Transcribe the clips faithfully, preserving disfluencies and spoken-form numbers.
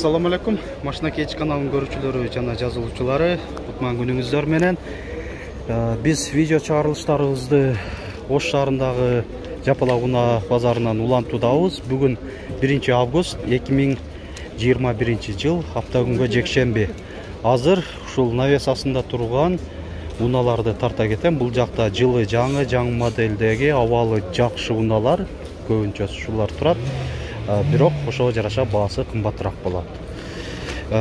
Assalamu alaikum. Машина кеч каналынын көрүүчүлөрү жана жазылуучулары, кутман күнүңүздөр менен. Биз видео чыгарылыштарыбызды Ош шаарындагы Жапалак унаа базарынан улантуудабыз. Бүгүн биринчи август эки миң жыйырма биринчи жыл, апта күнгө жекшемби. Азыр ушул навесасында турган унааларды тарта кетем. Бул жакта жылы жаңы, жаңы моделдеги абалы жакшы унаалар, көбүнчөсү ушулар турат. Бирок ошого жараша баасы кымбатыраак болот.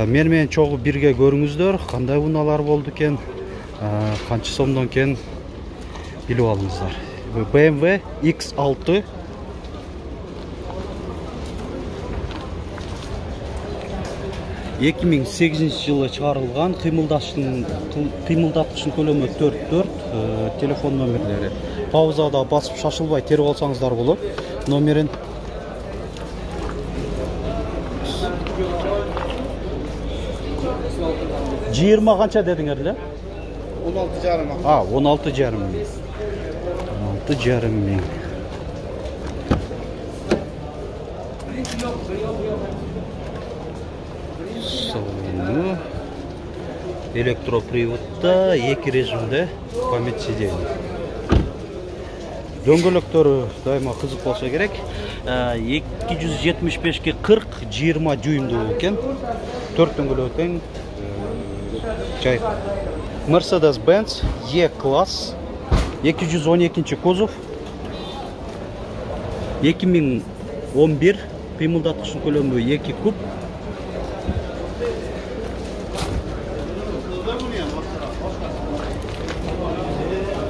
Мен менен чогуу бирге көрүңүздөр, кандай унаалар болду экен, канча сомдон экен билип алыңыздар. бэ эм вэ икс алты эки миң сегизинчи жылы чыгарылган, кыймылдаштын кыймылдаткычтын көлөмү төрт төрт, телефон номерлери. Паузада басып шашылбай терип алсаңыздар болот. Номерин жыйырма канча дедиңер эле? он алты жарым. А, он алты жарым миң. он алты жарым миң. Салону электроприводда, эки режимде, память сиденья. Дөңгөлөктөрү дайыма кызык болсо керек. эки жүз жетимиш бешке кырк жыйырма дюймдуу экен. төрт дөңгөлөк тең. Чай. Mercedes-Benz E-класс, эки жүз он экинчи кузов, эки миң он бир, кыймылдаткычтын көлөмү эки куб.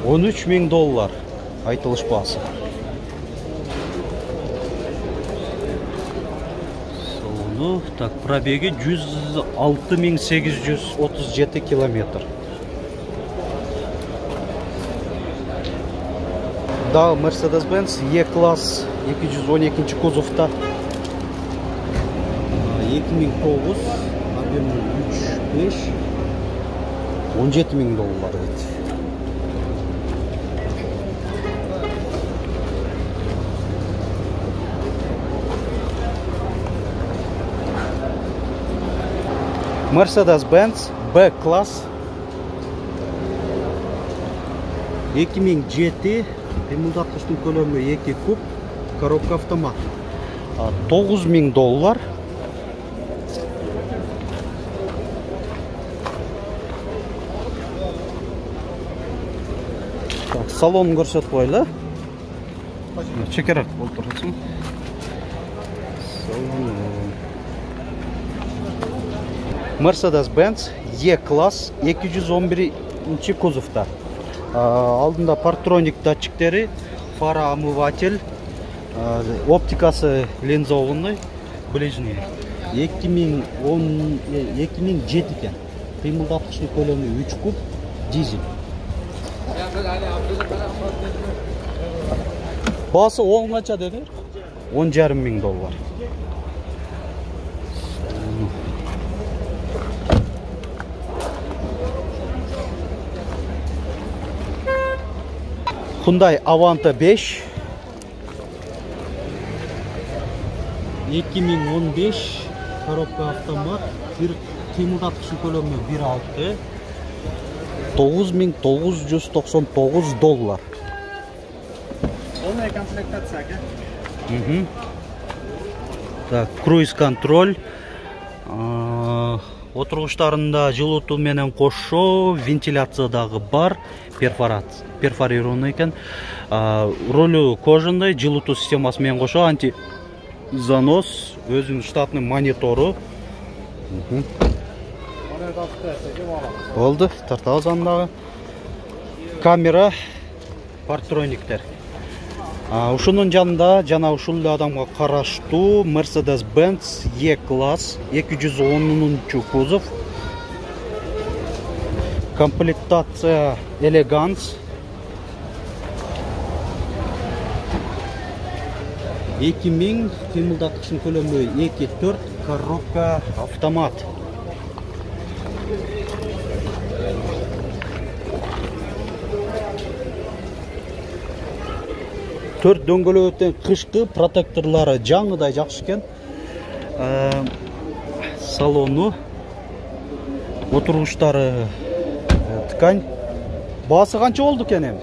он үч миң доллар айтылыш баасы. Салону, так, пробеги жүз алты миң сегиз жүз отуз жети километр. Да, Mercedes-Benz E-класс, эки жүз он экинчи кузовта. эки миң тогуз, объемы үч беш, он жети миң доллар дейт. Mercedes-Benz B-класс, эки миң жети, кыймылдаткычтын көлөмү эки куб, коробка автомат. тогуз миң доллар. Так, салонун көрсөтүп коелу. Чекерак отурасың. Салон. Mercedes-Benz E-класс, эки жүз он биринчи кузовта. Алдында партроник датчиктери, фара омыватель, оптикасы линзованный, ближний. эки миң жети экен. Кыймылдаткычтын көлөмү үч куб, дизель. Баасы он канча деди? он жарым миң доллар. Hyundai Avanta беш, эки миң он беш, коробка автомат, бир кыймылдаткычтын көлөмү бир алты, тогуз миң тогуз жүз токсон тогуз доллар. Полная комплектация, ага. Угу. Так, круиз контроль. Отургучтарында жылытуу менен кошо, вентиляция дагы бар, перфорация, перфорированный экен. Ролу кожаный, жылытуу системасы менен кошо, анти занос, өзүнүн штатный монитору. Болду, тартабыз андагы. Камера, партрониктер. Ушунун жанында жана ушул адамга караштуу Mercedes-Benz E-класс, эки жүз онунчу кузов. Комплектация Elegance. эки миң, кыймылдаткычтын көлөмү эки төрт, коробка автомат. төрт дөңгөлөктөн кышкы протекторлары жаңыдай жакшы экен. салону, отургучтары ткань. Баасы канча болду экен эми?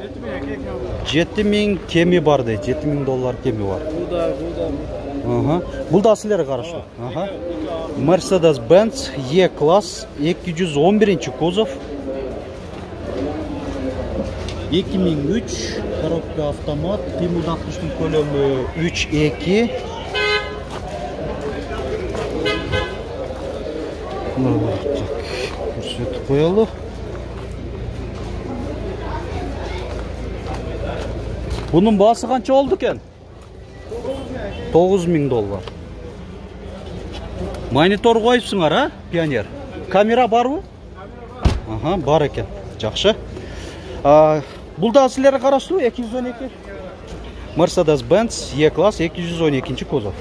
жети миң кеми бар дейт. жети миң доллар кеми бар. Буда, буда. Ага. Бул да силерге караштуу. Ага. Mercedes-Benz E-класс эки жүз он биринчи кузов. эки миң үч коробка автомат, кыймылдаткычтын көлөмү үч эки. Көрсөтүп коелу. Bunun baası kança oldu eken? тогуз миң доллар. Монитор коюпсуңар, а? Пионер. Камера барбы? Ага, бар экен. Жакшы. Бул да силерге караштуу эки жүз он эки. Mercedes-Benz E-класс эки жүз он экинчи кузов.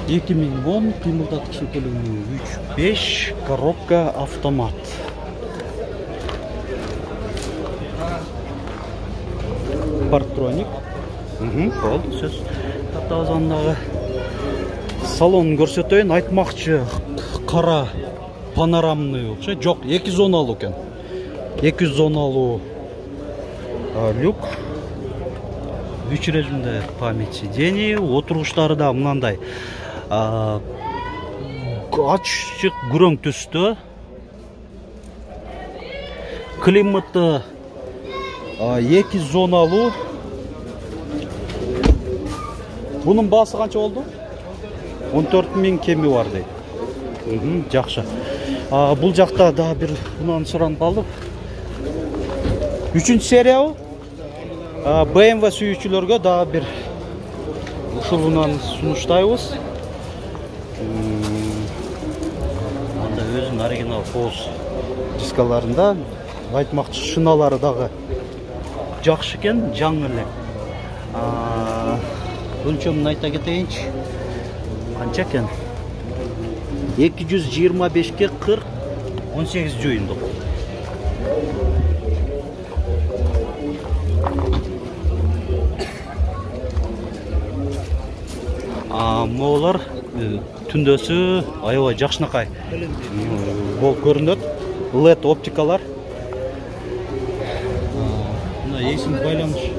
эки миң он кыймылдаткычтын көлөмү үч беш, коробка автомат. Парктроник. Болду, сөз. Татабызандагы салонун көрсөтөйүн. Айтмакчы кара панорамный окшойт. Жок, эки зоналуу экен. эки зоналуу люк. үч режимде память сидений, отургучтары да мынандай ачык күрөң түстө. Климаты эки зоналуу. Bunun baасы канча болду? он төрт миң кеми бар дейт. Жакшы. Бул жакта да бир мындан суранып калдым. үчүнчү сериябы? бэ эм вэ сүйүүчүлөргө да бир ушулунан сунуштайбыз. Анда өзүнүн оригинал поз дискаларында айтмакчы шыналары дагы жакшы экен, жаңы эле. Өлчөмүн айта кетейинчи. Канча экен? эки жүз жыйырма бешке кырк он сегиз жуюндук. Моолор түндөсү аябай жакшынакай болуп көрүнөт. лед оптикалар. Мына эсим байланыш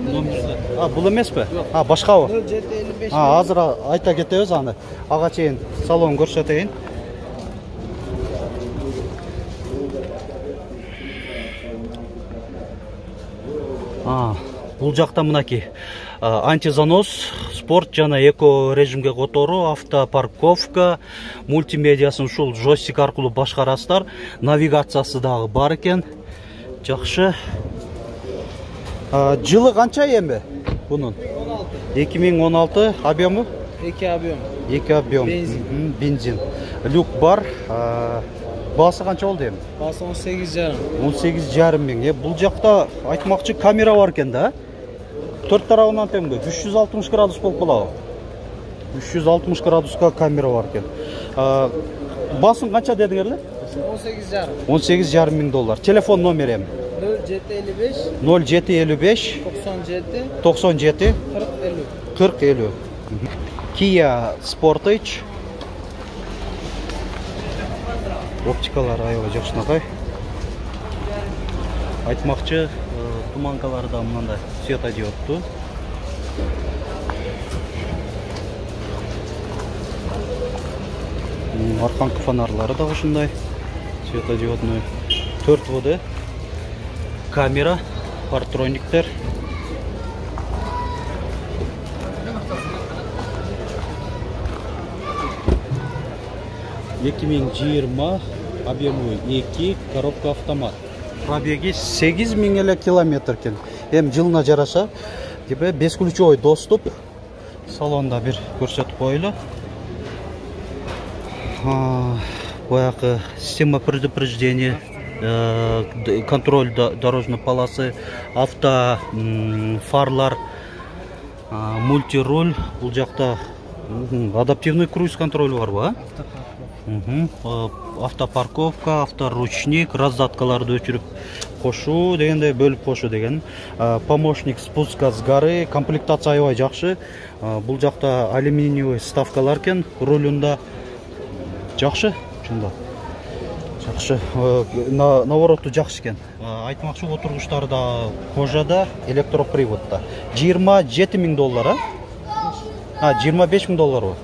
номерде. А, бул эмеспи? А, башкабы? нөл жети элүү беш. А, азыр айта кетебиз аны. Ага чейин салон көрсөтөйүн. А, бул жакта мынаки антизанос, спорт жана эко режимге которуу, автопарковка, мультимедиасын ушул джойстик аркылуу башкарасыздар. Навигациясы дагы бар экен. Жакшы. Жылы канча эми бунун? эки миң он алты. Объему? эки объем. эки объем. Бензин. Бензин. Люк бар. Баасы канча болду эми? Баасы он сегиз жарым. он сегиз жарым миң. Бул жакта айтмакчы камера бар экен да. төрт тарабынан теңбе үч жүз алтымыш градус болуп калабы. үч жүз алтымыш градуска камера бар экен. Баасын канча дедиңерли? он сегиз жарым. он сегиз жарым миң доллар. Телефон номери эми? нөл жети элүү беш. нөл жети элүү беш. токсон жети. токсон жети. кырк элүү. кырк элүү. Kia Sportage. Оптикалар аябай жакшынакай. Айтмакчы туманкалары да мындай светодиодтуу. Арканкы фонарлары да ушундай светодиодный. төрт вэ дэ камера, парктрониктер. эки миң жыйырма, объему эки, коробка автомат. Пробеги сегиз миң эле километр экен. Эми жылына жараша, типе бесключевой доступ. Салонда бир көрсөтүп коелу. Баягы система предупреждения, контроль дорожной полосы, авто фарлар, мультируль. Бул жакта адаптивный круиз контроль барбы, а? Автопарковка, авторучник, раздаткаларды өчүрүп кошуу дегенде бөлүп кошуу деген. Помощник спуска с горы, комплектация аябай жакшы. Бул жакта алюминиевый вставкалар экен, рулунда жакшы, чынында. Жакшы, наворотту жакшы экен. Айтмакчы, отургучтары да кожада, электроприводда. жыйырма жети миң доллар, а? А, жыйырма беш миң доллар.